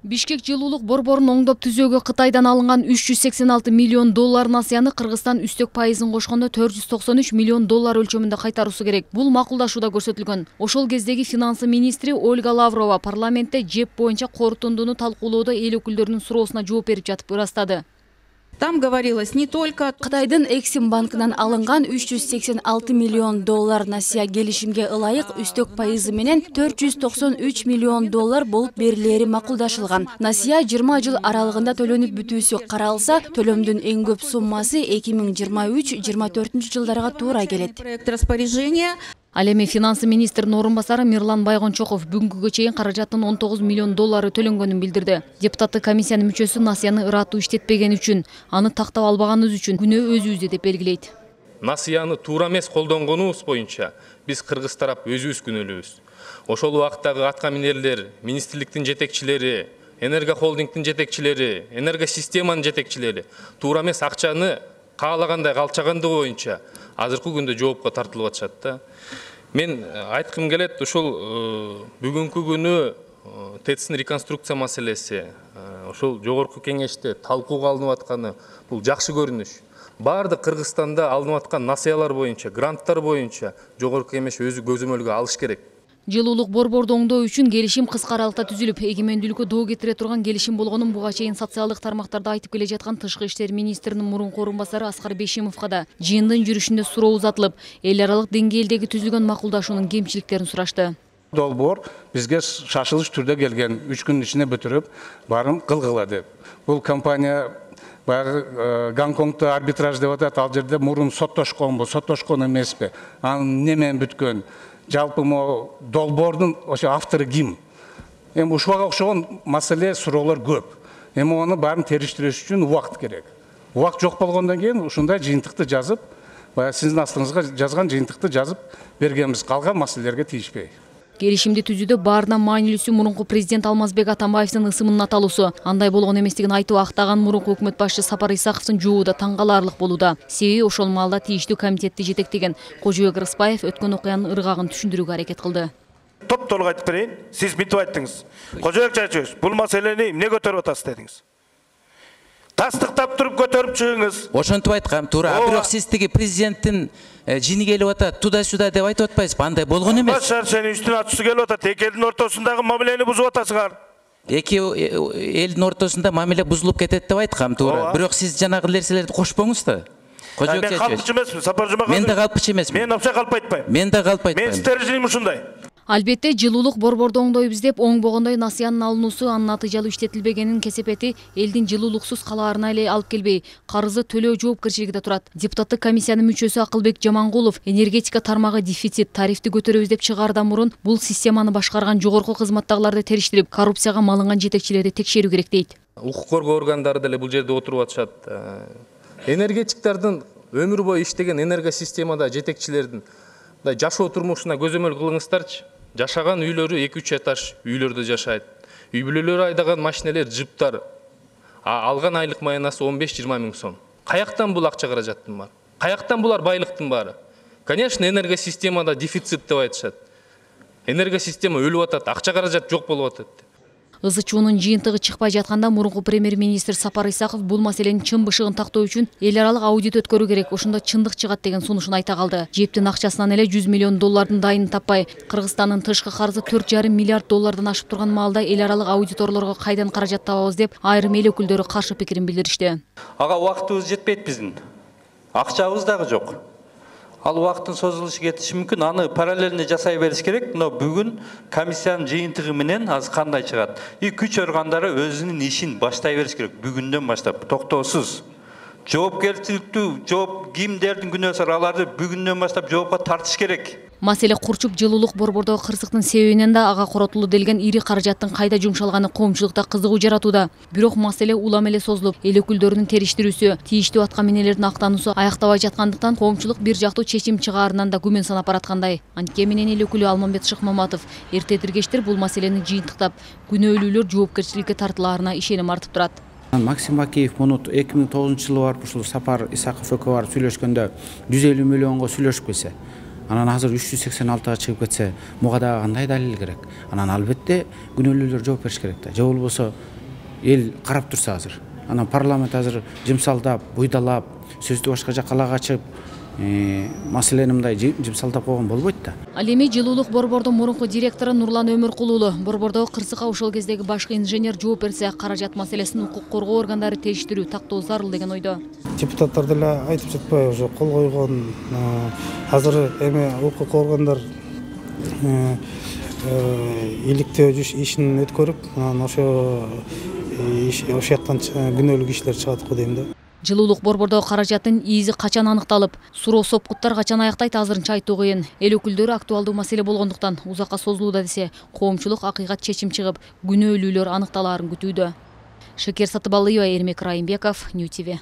Бишкек жылуулук борборун оңдоп түзөөгө Кытайдан алынган 386 миллион доллар насыяны Кыргызстан үстөк пайызын кошкондо 493 миллион доллар өлчөмүндө кайтаруусу керек. Бул макулдашууда көрсөтүлгөн. Ошол кездеги финансы министри Ольга Лаврова парламентте жеп боюнча корутундуну талкуулоодо эл өкүлдөрүнүн суроосуна жооп берип жатып ырастады. Там говорилось не только Кытайдын Эксим банкынан алынган 386 миллион доллар насыя келишимге ылайык үстөк пайызы менен 493 миллион доллар болуп берилери макулдашылган. Насыя 20 жыл аралыгында төлөнүп бүтүүсү каралса, төлөмдүн эң көп суммасы 2023-24 жылдарга туура келет. проект распоряжения. Ал эми финансы министринин орун басары Мирлан Байгончоков бүгүнкүгө чейин каражаттын 19 миллион доллары төлөнгөнүн билдирди. Депутаттык комиссиянын мүчөсү насыяны ыраттуу иштетпегени үчүн, аны тактап албаганыбыз үчүн күнөө өзүбүздө деп белгилейт. Насыяны туура эмес колдонгонубуз боюнча биз кыргыз тарап өзүбүз күнөөлүүбүз. Ошол убактагы атка минерлер, министрликтин жетекчилери, Энерго холдингдин жетекчилери, энергосистеманын жетекчилери туура эмес акчаны каалагандай калчагандыгы боюнча азыркы күндө жоопко тартылып атышат да. Мен айткым келет, ошол бүгүнкү күнү ТЭЦтин реконструкция маселеси, ошол жогорку кеңеште талкууга алынып атканы бул жакшы көрүнүш. Бардык Кыргызстанда алынып аткан насыялар боюнча, гранттар боюнча жогорку кеңеш өзү көзөмөлгө алыш керек. Жылуулук борборду оңдоо үчүн келишим кыска аралыкта түзүлүп, эгемендүүлүккө доо кетире турган келишим болгонун буга чейин социалдык тармактарда айтып келе жаткан Тышкы иштер министринин мурунку орун басары Аскар Бешимовго да жыйындын жүрүшүндө суроо узатылып, эл аралык деңгээлдеги түзүлгөн макулдашуунун кемчиликтерин сурашты. Долбоор бизге шашылыш түрдө келген, 3 күн ичинде бүтүрүп, баарын кылгыла деп. Бул компания баягы Гонконгдо арбитраж деп атат, ал жерде мурун соттошконбу, соттошкон эмеспи, анын неме менен бүткөн. Жалпы могу долбоордун ошо автору ким? Эми ушуга окшогон маселе, суроолор көп. Эми аны баарын териштириш үчүн убакыт керек. Убакыт жок болгондон кийин ушундай жыйынтыкты жазып, баягы сиздин астыңызга жазган жыйынтыкты жазып бергенбиз, калган маселелерге тийишпей. Келишимди түзүүдө баарынан маанилүүсү мурунку президент Алмазбек Атамбаевдин ысымынын аталуусу. Андай болгон эместигин айтып актаган мурунку өкмөт башчысы Сапар Исаковдун жообу да таң каларлык болууда. Себеби ошол маалда тийиштүү комитетти жетектеген Кожобек Рыспаев өткөн окуянын ыргагын түшүндүрүүгө аракет кылды. Топ-толук айтып берейин. Сиз мынтип айттыңыз. Кожобек Чачевич, бул маселени эмне көтөрүп атасыз дедиңиз. Тастыктап туруп көтөрүп чыгыңыз. Ошентип айткам, туура. Бирок сиз тиги президенттин жини келип атат, туда-сюда деп айтып атпайсызбы? Андай болгон эмес. Башар сени үстүнө атысы келип атат. Эки элдин ортосундагы мамилени бузуп атасыңар. Эки элдин ортосунда мамиле бузулуп кетет деп айткам, туура. Бирок сиз жанагы нерселерди кошпоңуз да. Мен калпчы эмесмин, Сапар Жумаканов. Мен да калпчы эмесмин. Мен вообще калп айтпайм. Мен да калп айтпайм. Мен стерженим ушундай. Албетте, жылуулук борборду оңдойбуз деп оңбогондой насыянын алынуусу анын натыйжалуу иштетилбегенин кесепети элдин жылуулуксуз калаарына эле алып келбей, карызы төлөө жоопкерчилиги да турат. Депутаттык комиссиянын мүчөсү Акылбек Жамангулов энергетика тармагы дефицит, тарифти көтөрөбүз деп чыгаардан мурун бул системаны башкарган жогорку кызматтагыларды териштирип, коррупцияга малынган жетекчилерди текшерүү керек дейт. Укук коргоо органдары деле бул жерде отуруп атышат. Энергетиктердин өмүр бою иштеген энергосистемада жетекчилердин жашоо турмушуна көзөмөл кылыңыздарчы. Жашаган үйлөрү 2-3 этаж үйлөрдө жашайт. Үй бүлөлөр айдаган машинелер, жыптар. Алган айлык маянасы 15-20 миң сом. Каяктан бул акча каражаттын баары? Каяктан булар байлыктын баары? Конечно, энергосистемада дефицит деп айтышат. Энергосистема өлүп атат, акча каражат жок болуп атат. ызы-чуунун жыйынтыгы чыкпай жатканда мурунку премьер-министр Сапар Исаков бул маселенин чын бышыгын тактоо үчүн эл аралык аудит өткөрүү керек, ошондо чындык чыгат деген сунушун айта калды. Жептин акчасынан эле 100 миллион доллардын дайынын таппай, Кыргызстандын тышкы карызы 4,5 миллиард доллардан ашып турган маалда эл аралык аудиторлорго кайдан каражат табабыз деп айрым эл өкүлдөрү каршы пикирин билдиришти. Ага убактыбыз жетпейт биздин. Акчабыз дагы жок. Ал убакыттын созулушу кетиши мүмкүн. Аны параллельно жасай бериш керек. Но бүгүн комиссиянын жыйынтыгы менен азыр кандай чыгат? Күч органдары өзүнүн ишин баштай бериш керек. Бүгүндөн баштап токтоосуз. Жоопкерчиликтүү, кимдердин күнөөсү бар, аларды бүгүндөн баштап жоопко тартыш керек. Маселе курчуп жылуулук борбордогу кырсыктын себебинен да ага коротулуу делген ири каражаттын кайда жумшалганы коомчулукта кызыгуу жаратууда. Бирок маселе улам эле созулуп, эл өкүлдөрүнүн териштирүүсү, тийиштүү атка минелердин актануусу аяктобай жаткандыктан коомчулук бир жактуу чечим чыгаарынан да күмөн санап бараткандай. Антке менен эл өкүлү Алмамбет Шыкмаматов эрте тиргештир бул маселени жыйынтыктап, күнөөлүүлөр жоопкерчиликке тартылаарына ишеним артып турат. Максим Бакиев муну 2009 жылы барып ушул Сапар Исаков экөө барып сүйлөшкөндө 150 миллионго сүйлөшпесе, Анан азыр 386-га чыгып кетсе, буга дагы кандай далил керек? Анан албетте күнөөлүүлөр жооп бериш керек да. Же болбосо эл карап турса азыр. Анан парламент азыр жымсалдап, буйдалап, сөздү башка жакка качып, маселени мындай жымсалдап койгон болбойт да. Ал эми жылуулук борбордун мурунку директору Нурлан Өмүркулуулу борбордогу кырсыкка ошол кездеги башкы инженер жооп берсе, каражат маселесин укук коргоо органдары териштирүү тактоо зарыл деген ойдо. Депутаттар деле айтып жатпайбы, уже кол койгон. Азыр эми укук органдар иликтөө ишин өткөрүп, анан ошо жактан күнөөлүү кишилер чыгат го дейм да. Жылуулук борбордогу каражаттын ийизи качан аныкталып, суроо сопкуттар качан аяктайт азырынча айтуу кыйын. Эл өкүлдөрү актуалдуу маселе болгондуктан узакка созулууда десе, коомчулук акыйкат чечим чыгып, күнөөлүүлөр аныкталаарын күтүүдө. Шекер Сатыбалыева, Эрмек Райымбеков, Нью ТВ.